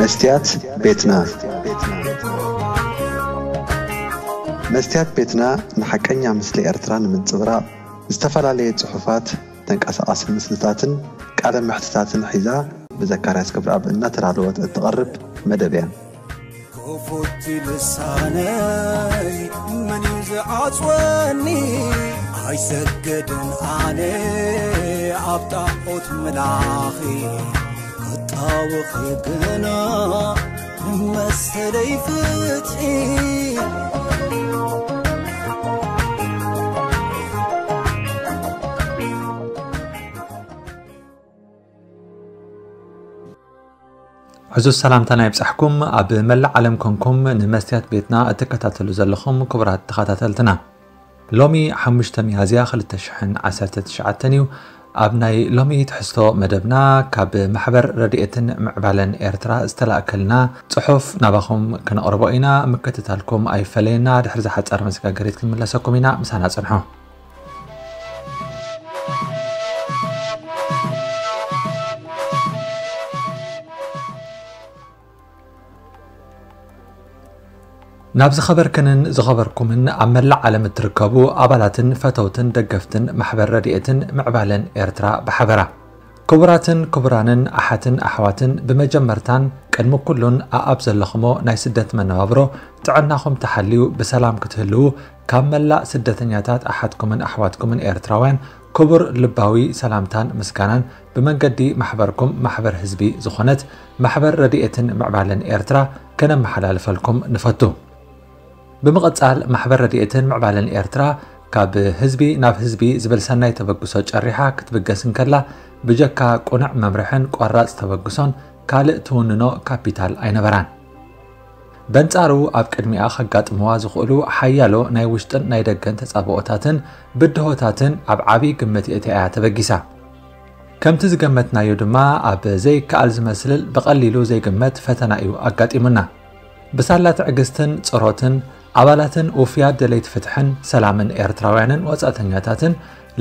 መስትያት ቤትና። መስትያት ቤትና ንሓቀኛ ምስሊ ኤርትራ ንምንጽብራቕ ዝተፈላለየ ጽሑፋት፣ ተንቀሳቓሲ ምስልታትን ቃለ መሕትታትን ሒዛ ብዘካርያስ ክብረኣብ እናተዳለወት እትቐርብ መደብ እያ። ክፉት ልሳነይ መን እዩ ዝዓጽወኒ? ኣይሰግድን ኣነ ኣብ ጣዖት ምላኺ፣ ክጣወኺ ግና መሰለይ ፍትሒ። ዕዙዝ ሰላምታና ይብጻሕኩም። ኣብ መላእ ዓለም ኮንኩም ንመስትያት ቤትና እትከታተሉ ዘለኹም ክቡራት ተኸታተልትና፣ ሎሚ ሓሙሽተ ሚያዝያ ክልተ ሽሕን ዓሰርተ ትሽዓተን እዩ። ኣብ ናይ ሎሚ ትሕዝቶ መደብና፣ ካብ ማሕበር ረድኤትን ምዕባለን ኤርትራ ዝተላእከልና ጽሑፍ ናባኹም ክነቕርቦ ኢና። ምክትታልኩም ኣይፈለየና። ድሕሪ ዝሓጸረ መሰጋገሪት ክንምለሰኩም ኢና። ምሳና ጽንሑ። ናብ ዝኸበርክንን ዝኸበርኩምን ኣብ መላእ ዓለም እትርከቡ ኣባላትን ፈተውትን ደገፍትን ማሕበር ረድኤትን ምዕባለን ኤርትራ ብሓበራ፣ ክቡራትን ክቡራንን ኣሓትን ኣሕዋትን፣ ብመጀመርታን ቅድሚ ኩሉን ኣኣብ ዘለኹሞ ናይ ስደት መነባብሮ ጥዕናኹም ተሓልዩ ብሰላም ክትህልዉ፣ ካብ መላእ ስደተኛታት ኣሓትኩምን ኣሕዋትኩምን ኤርትራውያን ክቡር ልባዊ ሰላምታን ምስጋናን ብመንገዲ ማሕበርኩም፣ ማሕበር ህዝቢ ዝኾነት ማሕበር ረድኤትን ምዕባለን ኤርትራ፣ ከነመሓላልፈልኩም ንፈቱ። ብምቕጻል፣ ማሕበር ረድኤትን ምዕባለን ኤርትራ ካብ ህዝቢ ናብ ህዝቢ ዝብል ሰናይ ተበግሶ ጨሪሓ ክትብገስ እንከላ፣ ብጀካ ቅኑዕ መምርሕን ቆራጽ ተበግሶን ካልእ ትውንኖ ካፒታል ኣይነበራን። በንጻሩ፣ ኣብ ቅድሚኣ ከጋጥምዋ ዝኽእሉ ሓያሎ ናይ ውሽጥን ናይ ደገን ተጻብኦታትን ብድሆታትን ኣብ ዓቢ ግምት የእትያ እያ ተበጊሳ። ከምቲ ዝገመትናዮ ድማ፣ ኣብ ዘይከኣል ዝመስል ብቐሊሉ ዘይግመት ፈተና እዩ ኣጋጢሙና። ብሳላ ትዕግስትን ጽሮትን ኣባላትን ውፉያት ደለይቲ ፍትሕን ሰላምን ኤርትራውያንን ወጻእተኛታትን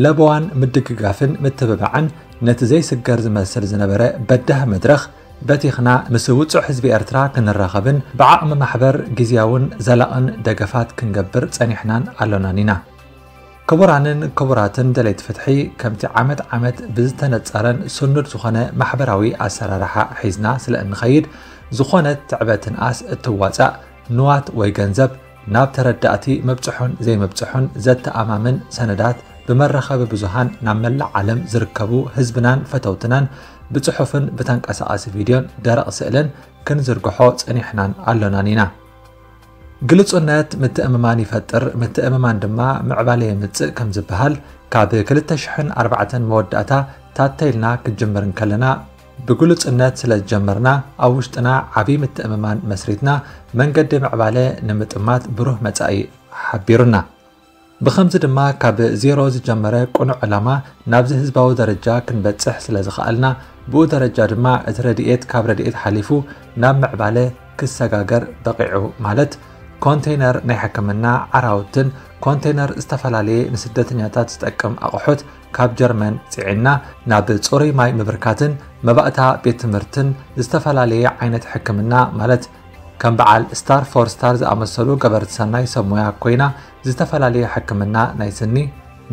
ለበዋን ምድግጋፍን ምትብባዕን ነቲ ዘይስገር ዝመስል ዝነበረ በዳህ መድረኽ በቲኽና፣ ምስ ውጹዕ ህዝቢ ኤርትራ ክንራኸብን ብዓቕሚ ማሕበር ግዝያውን ዘላቕን ደገፋት ክንገብር ጸኒሕናን ኣሎናን ኢና። ክቡራንን ክቡራትን ደለይቲ ፍትሒ፣ ከምቲ ዓመት ዓመት ብዝተነጸረን ስኑድ ዝኾነ ማሕበራዊ ኣሰራርሓ ሒዝና ስለ እንኸይድ፣ ዝኾነት ትዕበ ትንኣስ እትዋጻእ ንዋት ወይ ገንዘብ ናብ ተረዳእቲ መብጽሑን ዘይመብጽሑን ዘተኣማምን ሰነዳት ብመራኸቢ ብዙሃን ናብ መላእ ዓለም ዝርከቡ ህዝብናን ፈተውትናን ብጽሑፍን ብተንቀሳቓሲ ቪድዮን ደረቕ ስእልን ክንዝርግሖ ጸኒሕናን ኣሎናን ኢና። ግልጹነት ምትእምማን ይፈጥር፣ ምትእምማን ድማ ምዕባለ የምጽእ ከም ዝበሃል፣ ካብ ክልተ ሽሕን ኣርባዕተን መወዳእታ ታተ ኢልና ክጅምር እንከለና፣ ብግሉጽነት ስለ ዝጀመርና፣ ኣብ ውሽጥና ዓቢ ምትእምማን መስሪትና፣ መንገዲ ምዕባለ ንምጥማት ብሩህ መጻኢ ሓቢሩና። ብኸምዚ ድማ፣ ካብ ዜሮ ዝጀመረ ቅኑዕ ዕላማ ናብዚ ህዝባዊ ደረጃ ክንበጽሕ ስለ ዝኸኣልና፣ ብኡ ደረጃ ድማ እቲ ረድኤት ካብ ረድኤት ሓሊፉ ናብ ምዕባለ ክሰጋገር በቒዑ። ማለት፣ ኮንቴይነር ናይ ሕክምና ዓራውትን ኮንቴይነር ዝተፈላለየ ንስደተኛታት ዝጠቅም ኣቑሑት ካብ ጀርመን ጽዒንና፣ ናብ ጽሩይ ማይ ምብርካትን መባእታ ቤት ትምህርትን ዝተፈላለየ ዓይነት ሕክምና፣ ማለት፣ ከም በዓል ስታር ፎር ስታር ዝኣመሰሉ ገበርቲ ሰናይ ሰብ ሞያ ኮይና፣ ዝተፈላለየ ሕክምና ናይ ስኒ፣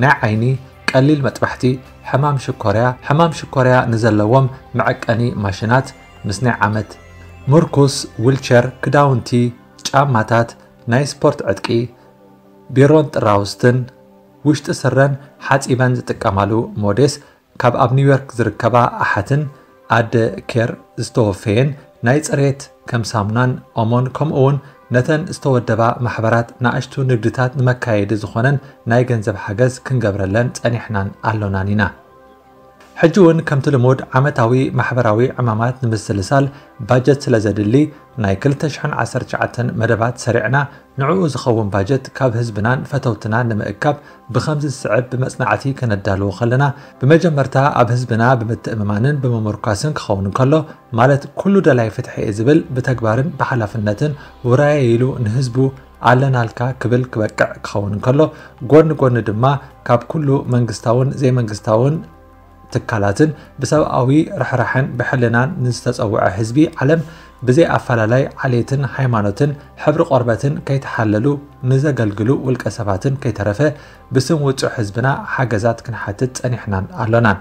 ናይ ዓይኒ፣ ቀሊል መጥባሕቲ፣ ሕማም ሽኮርያ፣ ሕማም ሽኮርያ ንዘለዎም መዐቀኒ ማሽናት፣ ምስ ናይ ዓመት ምርኩስ፣ ዊልቸር፣ ክዳውንቲ፣ ጫማታት፣ ናይ ስፖርት ዕጥቂ፣ ቢሮን ጥራውስትን፣ ውሽጢ ስረን ሓጺበን ዝጥቀማሉ ሞዴስ፣ ካብ ኣብ ኒውዮርክ ዝርከባ ኣሓትን ኣደ ኬር ዝተወፈየን ናይ ጽሬት ከም ሳሙናን ኦሞን፣ ከምኡ እውን ነተን ዝተወደባ ማሕበራት ንኣሽቱ ንግድታት ንመካየዲ ዝኾነን ናይ ገንዘብ ሓገዝ ክንገብረለን ጸኒሕናን ኣሎናን ኢና። ሕጂ እውን ከምቲ ልሙድ ዓመታዊ ማሕበራዊ ዕማማት ንምስልሳል ባጀት ስለ ዘድሊ፣ ናይ ክልተ ሽሕን ዓሰርተ ትሽዓተን መደባት ሰሪዕና ንዕኡ ዝኸውን ባጀት ካብ ህዝብናን ፈተውትናን ንምእካብ ብኸምዚ ዝስዕብ ብመጽናዕቲ ከነዳልዎ ከለና፣ ብመጀመርታ ኣብ ህዝብና ብምትእምማንን ብምምርኳስን ክኸውን እንከሎ፣ ማለት ኩሉ ደላይ ፍትሒ እየ ዝብል ብተግባርን ብሓላፍነትን ውራየ ኢሉ ንህዝቡ ኣለናልካ ክብል ክበቅዕ ክኸውን እንከሎ፣ ጎኒ ጎኒ ድማ ካብ ኩሉ መንግስታውን ዘይመንግስታውን ትካላትን ብሰብኣዊ ርሕራሐን ብሕልናን ንዝተጸውዐ ህዝቢ ዓለም ብዘይ ኣፈላላይ ዓሌትን ሃይማኖትን ሕብሪ ቆርበትን ከይተሓለሉ ንዘገልግሉ ውልቀ ሰባትን ከይተረፈ ብስም ውጹዕ ህዝብና ሓገዛት ክንሓትት ጸኒሕናን ኣሎናን።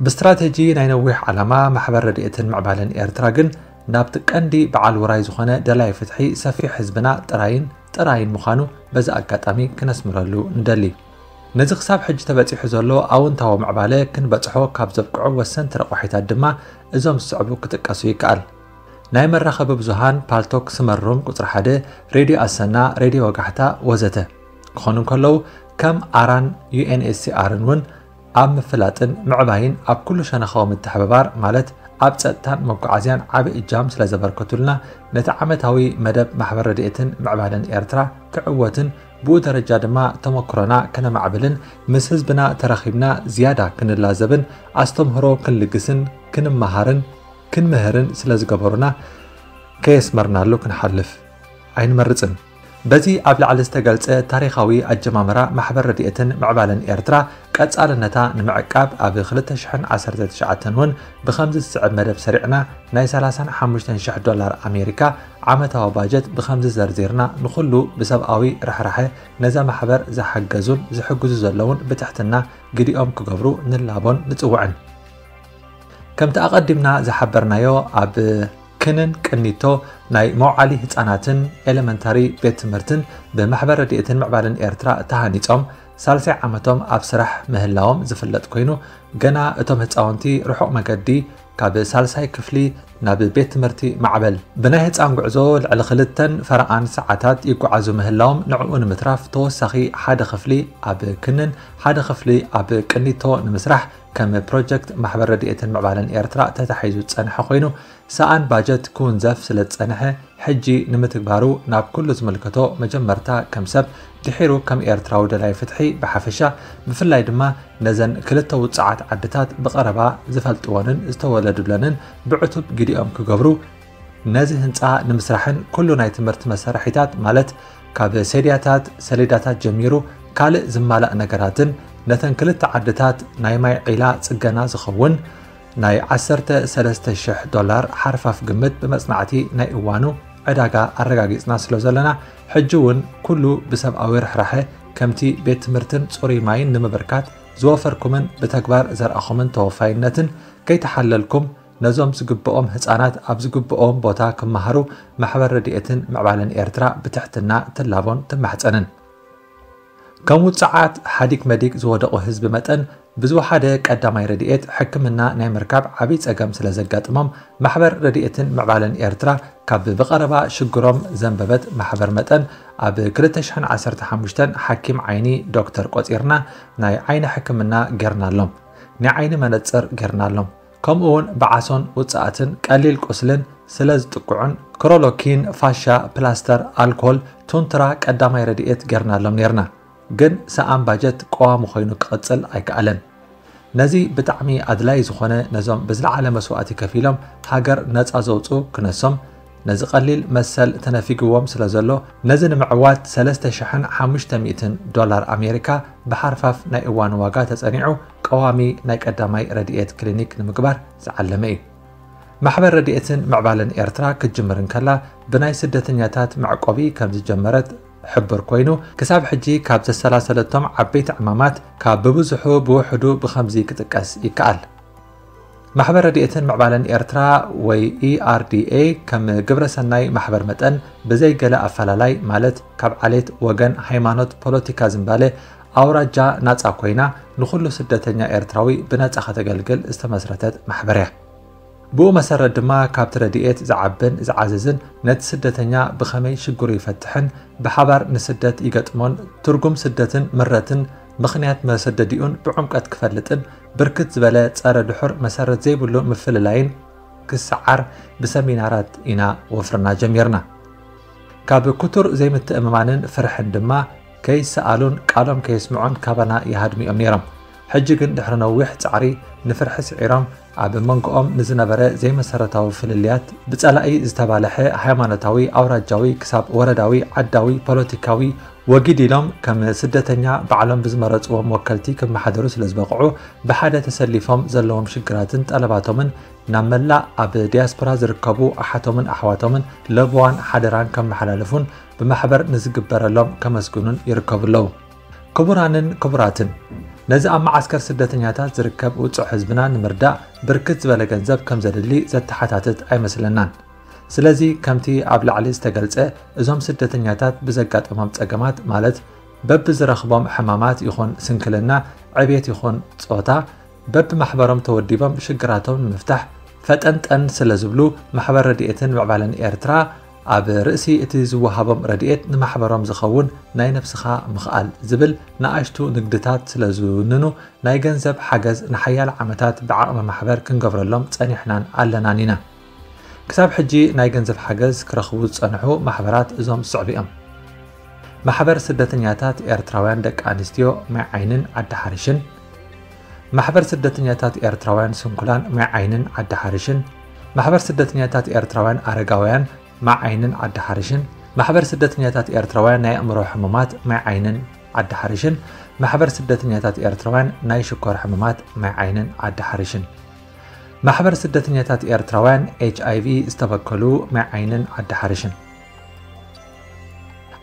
ብስትራተጂ ናይ ነዊሕ ዓላማ ማሕበር ረድኤትን ምዕባለን ኤርትራ ግን ናብቲ ቀንዲ በዓል ውራይ ዝኾነ ደላይ ፍትሒ ሰፊሕ ህዝብና ጥራይን ጥራይን ምዃኑ በዚ ኣጋጣሚ ክነስምረሉ ንደሊ። ነዚ ክሳብ ሕጂ ተበጺሑ ዘሎ ኣውንታዊ ምዕባለ ክንበጽሖ ካብ ዘብቅዑ ወሰንቲ ረቋሒታት ድማ እዞም ዝስዕቡ ክጥቀሱ ይከኣል። ናይ መራኸቢ ብዙሃን ፓልቶክ ስመሩም ቁጽሪ ሓደ፣ ሬድዮ ኣሰና፣ ሬድዮ ወጋሕታ ወዘተ ክኾኑ እንከለዉ ከም ኣራን ዩ ኤን ኤስ ሲ ኣርን እውን ኣብ ምፍላጥን ምዕባይን ኣብ ኩሉ ሸነኻዊ ምትሕብባር ማለት ኣብ ጸጥታን መጓዓዝያን ዓቢ እጃም ስለ ዘበርከቱልና ነቲ ዓመታዊ መደብ ማሕበር ረድኤትን ምዕባለን ኤርትራ ክዕወትን ብኡ ደረጃ ድማ ተመክሮና ከነማዕብልን ምስ ህዝብና ተራኺብና ዝያዳ ክንላዘብን ኣስተምህሮ ክንልግስን ክንመሃርን ክንምህርን ስለ ዝገበሩና ከየስመርናሉ ክንሓልፍ ኣይንመርጽን። በዚ ኣብ ላዕሊ ዝተገልጸ ታሪኻዊ ኣጀማምራ ማሕበር ረድኤትን ምዕባለን ኤርትራ ቀጻልነታ ንምዕቃብ ኣብ ክልተ ሽሕን ዓሰርተ ትሽዓተን እውን ብኸምዚ ዝስዕብ መደብ ሰሪዕና ናይ ሰላሳን ሓሙሽተን ሽሕ ዶላር ኣሜሪካ ዓመታዊ ባጀት ብኸምዚ ዘርዚርና ንኹሉ ብሰብኣዊ ርሕራሐ ነዛ ማሕበር ዝሓገዙን ዝሕግዙ ዘለውን ብትሕትና ግዲኦም ክገብሩ ንላቦን ንጽውዕን። ከምቲ ኣቐዲምና ዝሓበርናዮ ኣብ ክንን ቅኒቶ ናይ መውዓሊ ህጻናትን ኤለመንታሪ ቤት ትምህርትን ብማሕበር ረድኤትን ምዕባለን ኤርትራ ተሃኒጾም ሳልሳይ ዓመቶም ኣብ ስራሕ ምህላዎም ዝፍለጥ ኮይኑ ገና እቶም ህጻውንቲ ርሑቕ መገዲ ካብ ሳልሳይ ክፍሊ ናብ ቤት ትምህርቲ ማዕበል ብናይ ህጻን ጉዕዞ ልዕሊ ክልተን ፈረቓን ሰዓታት ይጓዓዙ ምህላዎም ንዕኡ ንምትራፍ ተወሳኺ ሓደ ክፍሊ ኣብ ክንን ሓደ ክፍሊ ኣብ ቅኒቶ ንምስራሕ ከም ፕሮጀክት ማሕበር ረድኤትን ምዕባለን ኤርትራ ተታሒዙ ዝጸንሐ ኮይኑ ሰኣን ባጀት ክውንዘፍ ስለ ዝጸንሐ ሕጂ ንምትግባሩ ናብ ኩሉ ዝምልከቶ መጀመርታ ከም ሰብ ድሒሩ ከም ኤርትራዊ ደላይ ፍትሒ ብሓፈሻ ብፍላይ ድማ ነዘን ክልተ ውጽዓት ዓድታት ብቐረባ ዝፈልጥወንን ዝተወለዱለንን ብዕቱብ ግዲኦም ክገብሩ ነዚ ህንጻ ንምስራሕን ኩሉ ናይ ትምህርቲ መሳርሒታት ማለት ካብ ሴድያታት፣ ሰሌዳታት ጀሚሩ ካልእ ዝማላእ ነገራትን ነተን ክልተ ዓድታት ናይ ማይ ዒላ ጽገና ዝኸውን ናይ ዓሰርተ ሰለስተ ሽሕ ዶላር ሓርፋፍ ግምት ብመጽናዕቲ ናይ እዋኑ ዕዳጋ ኣረጋጊጽና ስለ ዘለና ሕጂ እውን ኩሉ ብሰብኣዊ ርሕራሐ ከምቲ ቤት ትምህርትን ጽሩይ ማይን ንምብርካት ዝወፈርኩምን ብተግባር ዘርኣኹምን ተወፋይነትን ከይተሓለልኩም ነዞም ዝግብኦም ህጻናት ኣብ ዝግብኦም ቦታ ክመሃሩ ማሕበር ረድኤትን ምዕባለን ኤርትራ ብትሕትና ትላቦን ትማሕጸንን። ከም ውጽዓት ሓዲግ መዲግ ዝወደቑ ህዝቢ መጠን ብዝወሓደ ቀዳማይ ረድኤት ሕክምና ናይ ምርካብ ዓብይ ጸገም ስለ ዘጋጥሞም ማሕበር ረድኤትን ምዕባለን ኤርትራ ካብ ብቐረባ ሽግሮም ዘንበበት ማሕበር መጠን ኣብ ክልተ ሽሕን ዓሰርተ ሓሙሽተን ሓኪም ዓይኒ ዶክተር ቆጺርና ናይ ዓይኒ ሕክምና ጌርናሎም። ናይ ዓይኒ መነጽር ጌርናሎም። ከምኡ እውን ብዓሶን ውጽኣትን ቀሊል ቁስልን ስለ ዝጥቅዑን ክሮሎኪን፣ ፋሻ፣ ፕላስተር፣ ኣልኮል፣ ቱንትራ ቀዳማይ ረድኤት ጌርናሎም ኔርና። ግን ሰኣን ባጀት ቀዋሚ ኮይኑ ክቕጽል ኣይከኣለን። ነዚ ብጣዕሚ ኣድላዪ ዝኾነ ነዞም ብዝለዓለ መስዋእቲ ከፊሎም ሃገር ነጻ ዘውጽኡ ክነሶም ነዚ ቀሊል መሰል ተነፊግዎም ስለ ዘሎ ነዚ ንምዕዋት ሰለስተ ሽሕን ሓሙሽተ ሚእትን ዶላር ኣሜሪካ ብሓርፋፍ ናይ እዋን ዋጋ ተጸኒዑ ቀዋሚ ናይ ቀዳማይ ረድኤት ክሊኒክ ንምግባር ዝዓለመ እዩ። ማሕበር ረድኤትን ምዕባለን ኤርትራ ክትጅምር እንከላ ብናይ ስደተኛታት መዕቆቢ ከም ዝጀመረት ሕቡር ኮይኑ ክሳብ ሕጂ ካብ ዘሰላሰለቶም ዓበይቲ ዕማማት ካብ ብብዝሑ ብውሕዱ ብኸምዚ ክጥቀስ ይከኣል። ማሕበር ረድኤትን ምዕባለን ኤርትራ ወይ ኢኣርዲኤ ከም ግብረ ሰናይ ማሕበር መጠን ብዘይ ገለ ኣፈላላይ ማለት ካብ ዓሌት፣ ወገን፣ ሃይማኖት፣ ፖለቲካ ዝንባለ ኣውራጃ ናጻ ኮይና ንኹሉ ስደተኛ ኤርትራዊ ብነጻ ከተገልግል ዝተመስረተት ማሕበር እያ። ብኡ መሰረት ድማ ካብቲ ረድኤት ዝዓብን ዝዓዝዝን ነቲ ስደተኛ ብኸመይ ሽግሩ ይፈትሕን ብሓባር ንስደት ይገጥሞን ትርጉም ስደትን ምረትን ምኽንያት መሰደዲኡን ብዕምቀት ክፈልጥን ብርክት ዝበለ ጸረ ድሑር መሰረት ዘይብሉ ምፍልላይን ክሰዓር ብሰሚናራት ኢና ወፍርና ጀሚርና። ካብ ክቱር ዘይምትእምማንን ፍርሕን ድማ ከይሰኣሉን ቃሎም ከየስምዑን ካባና ይሃድሙ እዮም ነይሮም። ሕጂ ግን ድሕሪ ነዊሕ ጻዕሪ ንፍርሒ ስዒሮም ኣብ መንጎኦም ንዝነበረ ዘይመሰረታዊ ፍልልያት ብጸላኢ ዝተባልሐ ሃይማኖታዊ፣ ኣውራጃዊ ክሳብ ወረዳዊ፣ ዓዳዊ፣ ፖለቲካዊ ወጊድ ኢሎም ከም ስደተኛ ባዕሎም ብዝመረጽዎም ወከልቲ ክመሓደሩ ስለ ዝበቕዑ ብሓደ ተሰሊፎም ዘለዎም ሽግራትን ጠለባቶምን ናብ መላእ ኣብ ዲያስፖራ ዝርከቡ ኣሓቶምን ኣሕዋቶምን ለበዋን ሓደራን ከመሓላልፉን ብማሕበር ንዝግበረሎም ከመስግኑን ይርከቡ ኣለዉ። ክቡራንን ክቡራትን፣ ነዚ ኣብ መዓስከር ስደተኛታት ዝርከብ ውጹዕ ህዝብና ንምርዳእ ብርክት ዝበለ ገንዘብ ከም ዘድሊ ዘተሓታትት ኣይመስለናን። ስለዚ ከምቲ ኣብ ላዕሊ ዝተገልጸ፣ እዞም ስደተኛታት ብዘጋጠሞም ጸገማት፣ ማለት በብዝረኽቦም ሕማማት ይኹን ስንክልና፣ ዕቤት ይኹን ጾታ፣ በብማሕበሮም ተወዲቦም ሽግራቶም ንምፍታሕ ፈጠንጠን ስለ ዝብሉ፣ ማሕበር ረድኤትን ምዕባለን ኤርትራ ኣብ ርእሲ እቲ ዝወሃቦም ረድኤት ንማሕበሮም ዝኸውን ናይ ነብስኻ ምኽኣል ዝብል ንኣሽቱ ንግድታት ስለ ዝውንኑ፣ ናይ ገንዘብ ሓገዝ ንሓያለ ዓመታት ብዓቕሚ ማሕበር ክንገብረሎም ጸኒሕናን ኣለናን ኢና። ክሳብ ሕጂ ናይ ገንዘብ ሓገዝ ክረኽቡ ዝጸንሑ ማሕበራት እዞም ዝስዕቡ እዮም። ማሕበር ስደተኛታት ኤርትራውያን ደቂ ኣንስትዮ ማይ ዓይንን ዓዲ ሓርሽን፣ ማሕበር ስደተኛታት ኤርትራውያን ስንኩላን ማይ ዓይንን ዓዲ ሓርሽን፣ ማሕበር ስደተኛታት ኤርትራውያን ኣረጋውያን ማይ ዓይንን ዓዲ ሓርሽን፣ ማሕበር ስደተኛታት ኤርትራውያን ናይ ኣእምሮ ሕሙማት ማይ ዓይንን ዓዲ ሓርሽን፣ ማሕበር ስደተኛታት ኤርትራውያን ናይ ሽኮር ሕሙማት ማይ ዓይንን ዓዲ ሓርሽን፣ ማሕበር ስደተኛታት ኤርትራውያን ኤች ኣይ ቪ ዝተበከሉ ማይ ዓይንን ዓዲ ሓርሽን።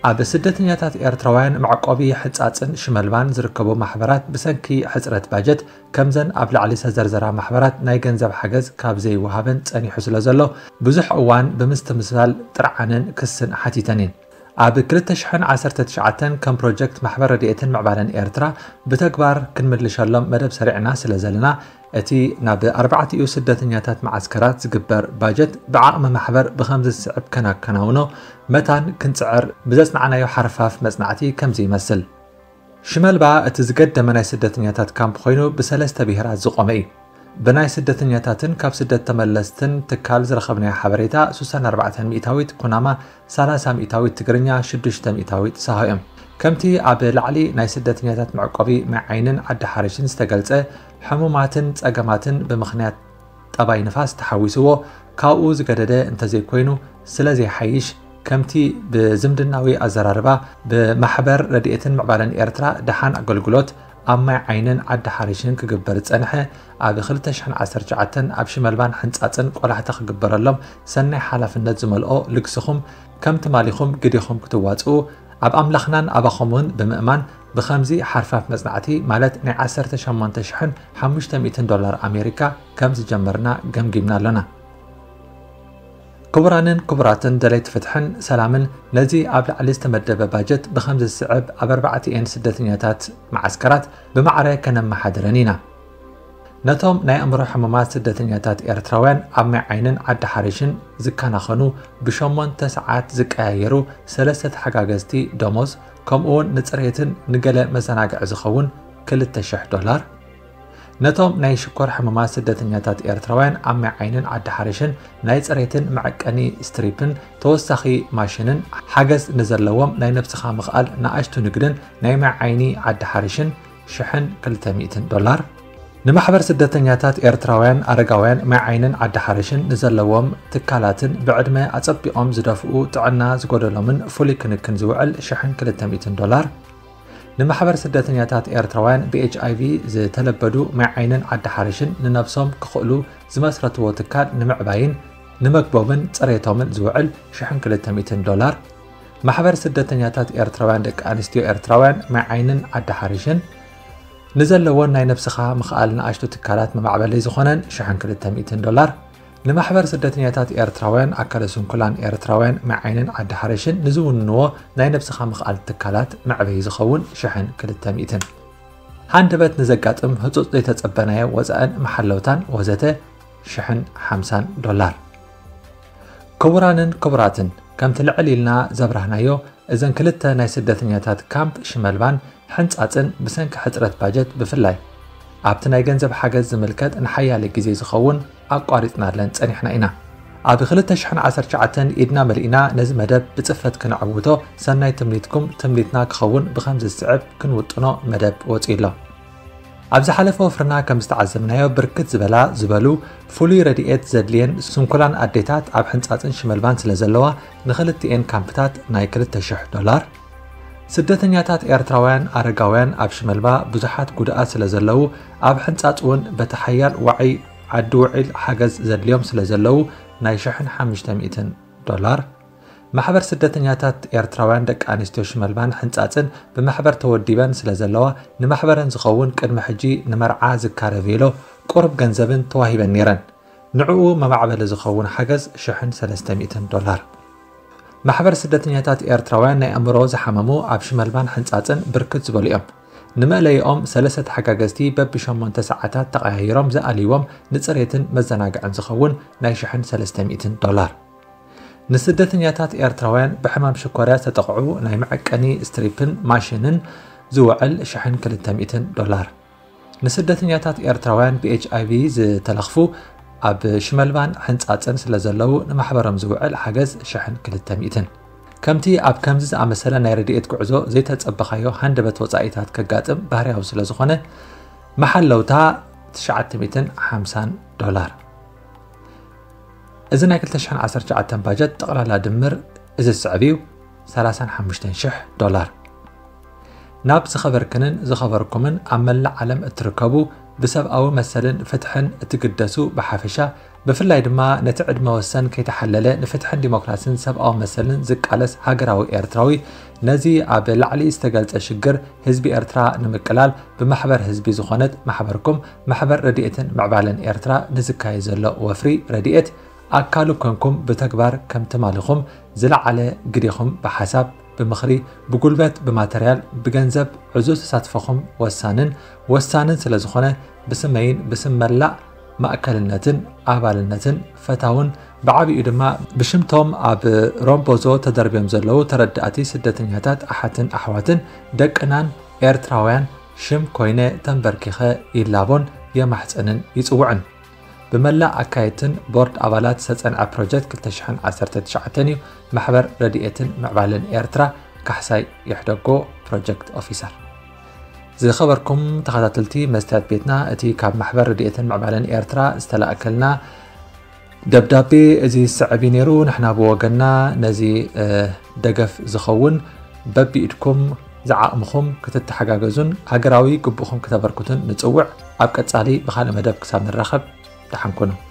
ኣብ ስደተኛታት ኤርትራውያን መዕቆቢ ሕጻጽን ሽመልባን ዝርከቡ ማሕበራት ብሰንኪ ሕጽረት ባጀት ከምዘን ኣብ ላዕሊ ዝተዘርዘራ ማሕበራት ናይ ገንዘብ ሓገዝ ካብ ዘይወሃበን ጸኒሑ ስለ ዘሎ፣ ብዙሕ እዋን ብምስትምሳል ጥርዓንን ክስን ሓቲተን እየን። ኣብ ክልተ ሽሕን ዓሰርተ ትሽዓተን ከም ፕሮጀክት ማሕበር ረድኤትን ምዕባለን ኤርትራ ብተግባር ክንምልሸሎም መደብ ሰሪዕና ስለ ዘለና፣ እቲ ናብ ኣርባዕቲኡ ስደተኛታት መዓስከራት ዝግበር ባጀት ብዓቕሚ ማሕበር ብኸምዚ ዝስዕብ ከናከናውኖ መታን ክንጽዕር ብዘጽናዕናዮ ሓርፋፍ መጽናዕቲ ከምዚ ይመስል። ሽመልባ እቲ ዝገደመ ናይ ስደተኛታት ካምፕ ኮይኑ ብሰለስተ ብሄራት ዝቖመ እዩ። ብናይ ስደተኛታትን ካብ ስደት ተመለስትን ትካል ዝረኸብናዮ ሓበሬታ፣ ስሳን ኣርባዕተን ሚእታዊት ኩናማ፣ ሰላሳ ሚእታዊት ትግርኛ፣ ሽዱሽተ ሚእታዊት ሳሆ እዮም። ከምቲ ኣብ ላዕሊ ናይ ስደተኛታት መዕቆቢ ማይ ዓይንን ዓዲ ሓርሽን ዝተገልጸ፣ ሕሙማትን ጸገማትን ብምኽንያት ጠባይ ንፋስ ተሓዊስዎ ካብኡ ዝገደደ እንተዘይኮይኑ ስለ ዘይሓይሽ፣ ከምቲ ብዝምድናዊ ኣዘራርባ ብማሕበር ረድኤትን ምዕባለን ኤርትራ ደሓን ኣገልግሎት ኣብ ማይ ዓይንን ዓዲ ሓርሽን ክግበር ዝጸንሐ፣ ኣብ ክልተ ሽሕን ዓሰርተ ትሽዓተን ኣብ ሽመልባን ሕንጻጽን ቆላሕታ ክግበረሎም ሰናይ ሓላፍነት ዝመልኦ ልግስኹም ከም ትማሊኹም ግዴኹም ክትዋጽኡ ኣብ ኣምላኽናን ኣባኹም እውን ብምእማን ብኸምዚ ሓርፋፍ መጽናዕቲ ማለት ናይ ዓሰርተ ሸሞንተ ሽሕን ሓሙሽተ ሚእትን ዶላር ኣሜሪካ ከም ዝጀመርና ገምጊምና ኣሎና። ክቡራንን ክቡራትን ደለይቲ ፍትሕን ሰላምን ነዚ ኣብ ላዕሊ ዝተመደበ ባጀት ብኸምዚ ዝስዕብ ኣብ ኣርባዕቲኤን ስደተኛታት መዓስከራት ብማዕረ ከነመሓድረን ኢና። ነቶም ናይ ኣእምሮ ሕሙማት ስደተኛታት ኤርትራውያን ኣብ ማይ ዓይንን ዓዲ ሓርሽን ዝከናኸኑ ብሸሞንተ ሰዓት ዝቀያየሩ ሰለስተ ተሓጋገዝቲ ደሞዝ ከምኡውን ንጽሬትን ንገለ መዘናግዒ ዝኸውን ክልተ ሽሕ ዶላር፣ ነቶም ናይ ሽኮር ሕሙማት ስደተኛታት ኤርትራውያን ኣብ ማይ ዓይንን ዓዲ ሓርሽን ናይ ጽሬትን መዐቀኒ ስትሪፕን ተወሳኺ ማሽንን ሓገዝ ንዘለዎም ናይ ነብስኻ ምኽኣል ንኣሽቱ ንግድን ናይ ማይ ዓይኒ ዓዲ ሓርሽን ሽሕን ክልተ ሚእትን ዶላር፣ ንማሕበር ስደተኛታት ኤርትራውያን ኣረጋውያን ማይ ዓይንን ዓዲ ሓርሽን ንዘለዎም ትካላትን ብዕድመ ኣጸቢቖም ዝደፍኡ ጥዕና ዝጎደሎምን ፍሉይ ክንክን ዝውዕል ሽሕን ክልተ ሚእትን ዶላር፣ ንማሕበር ስደተኛታት ኤርትራውያን ብ ኤች ኣይ ቪ ዝተለበዱ ማይ ዓይንን ዓዲ ሓርሽን ንነብሶም ክኽእሉ ዝመስረትዎ ትካል ንምዕባይን ንመግቦምን ጽሬቶምን ዝውዕል ሽሕን ክልተ ሚእትን ዶላር፣ ማሕበር ስደተኛታት ኤርትራውያን ደቂ ኣንስትዮ ኤርትራውያን ማይ ዓይንን ዓዲ ሓርሽን ንዘለዎን ናይ ነብስኻ ምኽኣል ንኣሽቱ ትካላት መማዕበሊ ዝኾነን ሽሕን ክልተ ሚእትን ዶላር፣ ንማሕበር ስደተኛታት ኤርትራውያን ኣካለ ስንኩላን ኤርትራውያን ማይ ዓይንን ዓዲ ሓርሽን ንዝውንንዎ ናይ ነብስኻ ምኽኣል ትካላት መዕበዪ ዝኸውን ሽሕን ክልተ ሚእትን። ሃንደበት ንዘጋጥም ህጹጽ ዘይተጸበናዮ ወጻእን መሓለውታን ወዘተ ሽሕን ሓምሳን ዶላር። ክቡራንን ክቡራትን፣ ከምቲ ልዕል ኢልና ዘብራህናዮ፣ እዘን ክልተ ናይ ስደተኛታት ካምፕ ሽመልባን ሕንጻጽን ብሰንኪ ሕጽረት ባጀት ብፍላይ ኣብቲ ናይ ገንዘብ ሓገዝ ዝምልከት ንሓያለ ግዜ ዝኸውን ኣቋሪጽናለን ጸኒሕና ኢና። ኣብ ክልተ ሽሕን ዓሰርተ ትሽዓተን ኢድና መሊእና ነዚ መደብ ብጽፈት ክነዕውቶ ሰናይ ትምኒትኩም ትምኒትና ክኸውን ብኸምዚ ዝስዕብ ክንውጥኖ መደብ ወጺኡ ኣሎ። ኣብ ዝሓለፈ ወፍርና ከም ዝተዓዘብናዮ ብርክት ዝበላ ዝበሉ ፍሉይ ረድኤት ዘድልየን ስንኩላን ኣዴታት ኣብ ሕንጻጽን ሽመልባን ስለ ዘለዋ ንኽልቲኤን ካምፕታት ናይ ክልተ ሽሕ ዶላር፣ ስደተኛታት ኤርትራውያን ኣረጋውያን ኣብ ሽመልባ ብዙሓት ጉድኣት ስለ ዘለዉ ኣብ ሕንጻጽ እውን በቲ ሓያል ዋዒ ዓዲ ውዒል ሓገዝ ዘድልዮም ስለ ዘለዉ ናይ ሽሕን ሓሙሽተ ሚእትን ዶላር። ማሕበር ስደተኛታት ኤርትራውያን ደቂ ኣንስትዮ ሽመልባን ሕንጻጽን ብማሕበር ተወዲበን ስለ ዘለዋ ንማሕበረን ዝኸውን ቅድሚ ሕጂ ንመርዓ ዝካረ ቬሎ ቁሩብ ገንዘብን ተዋሂበን ነይረን። ንዕኡ መማዕበሊ ዝኸውን ሓገዝ ሽሕን ሰለስተ ሚእትን ዶላር። ማሕበር ስደተኛታት ኤርትራውያን ናይ ኣእምሮ ዝሓመሙ ኣብ ሽመልባን ሕንጻጽን ብርክት ዝበሉ እዮም። ንመእለይኦም ሰለስተ ተሓጋገዝቲ በቢ ሸሞንተ ሰዓታት ተቐያይሮም ዝኣልይዎም ንጽሬትን መዘናግዕን ዝኸውን ናይ ሽሕን ሰለስተ ሚእትን ዶላር። ንስደተኛታት ኤርትራውያን ብሕማም ሽኮርያ ዝተጠቕዑ ናይ መዐቀኒ ስትሪፕን ማሽንን ዝውዕል ሽሕን ክልተ ሚእትን ዶላር። ንስደተኛታት ኤርትራውያን ብ ኤች ኣይ ቪ ዝተለኽፉ ኣብ ሽመልባን ሕንጻጽን ስለ ዘለዉ ንማሕበሮም ዝውዕል ሓገዝ ሽሕን ክልተ ሚእትን። ከምቲ ኣብ ከምዚ ዝኣመሰለ ናይ ረድኤት ጉዕዞ ዘይተጸበኻዮ ሃንደበት ወጻኢታት ከጋጥም ባህርያዊ ስለ ዝኾነ፣ መሓለውታ ትሽዓተ ሚእትን ሓምሳን ዶላር። እዚ ናይ ክልተ ሽሕን ዓሰርተ ትሽዓተን ባጀት ጠቕላላ ድምር እዚ ዝስዕብ እዩ፣ ሰላሳን ሓሙሽተን ሽሕ ዶላር። ናብ ዝኸበርክንን ዝኸበርኩምን ኣብ መላእ ዓለም እትርከቡ ብሰብኣዊ መሰልን ፍትሕን እትግደሱ ብሓፈሻ፣ ብፍላይ ድማ ነቲ ዕድመ ወሰን ከይተሓለለ ንፍትሕን ዲሞክራሲን ሰብኣዊ መሰልን ዝቃለስ ሃገራዊ ኤርትራዊ፣ ነዚ ኣብ ላዕሊ ዝተገልጸ ሽግር ህዝቢ ኤርትራ ንምቅላል ብማሕበር ህዝቢ ዝኾነት ማሕበርኩም፣ ማሕበር ረድኤትን ምዕባለን ኤርትራ፣ ንዝካየድ ዘሎ ወፍሪ ረድኤት ኣካሉ ኮንኩም ብተግባር ከም ትማልኹም ዝለዓለ ግዴኹም ብሓሳብ፣ ብምኽሪ፣ ብጉልበት፣ ብማተርያል፣ ብገንዘብ ዕዙዝ ተሳትፎኹም ወሳንን ወሳንን ስለ ዝኾነ ብስመይን ብስም መላእ ማእከልነትን ኣባልነትን ፈታውን ብዓቢኡ ድማ ብሽምቶም ኣብ ሮምቦዞ ተደርብዮም ዘለዉ ተረዳእቲ ስደተኛታት ኣሓትን ኣሕዋትን ደቅናን ኤርትራውያን ሽም ኮይነ ተንበርኪኸ ይላቦን የማሕጽንን ይጽውዕን። ብመላእ ኣካየድትን ቦርድ ኣባላት ዝተጸንዐ ፕሮጀክት ክልተ ሽሕን ዓሰርተ ትሽዓተን እዩ። ማሕበር ረድኤትን ምዕባለን ኤርትራ ካሕሳይ ይሕደጎ ፕሮጀክት ኦፊሰር። ዝኸበርኩም ተኸታተልቲ መስትያት ቤትና፣ እቲ ካብ ማሕበር ረድኤትን ምዕባለን ኤርትራ ዝተላእከልና ደብዳቤ እዚ ዝስዕብ እዩ ነይሩ። ንሕና ብወገንና ነዚ፣ እ፣ ደገፍ ዝኸውን በቢኢድኩም ዝዓቕምኹም ክትተሓጋገዙን ሃገራዊ ግቡእኹም ክተበርክቱን ንጽውዕ። ኣብ ቀጻሊ ብኻልእ መደብ ክሳብ ንራኸብ ደሓን ኩኑ።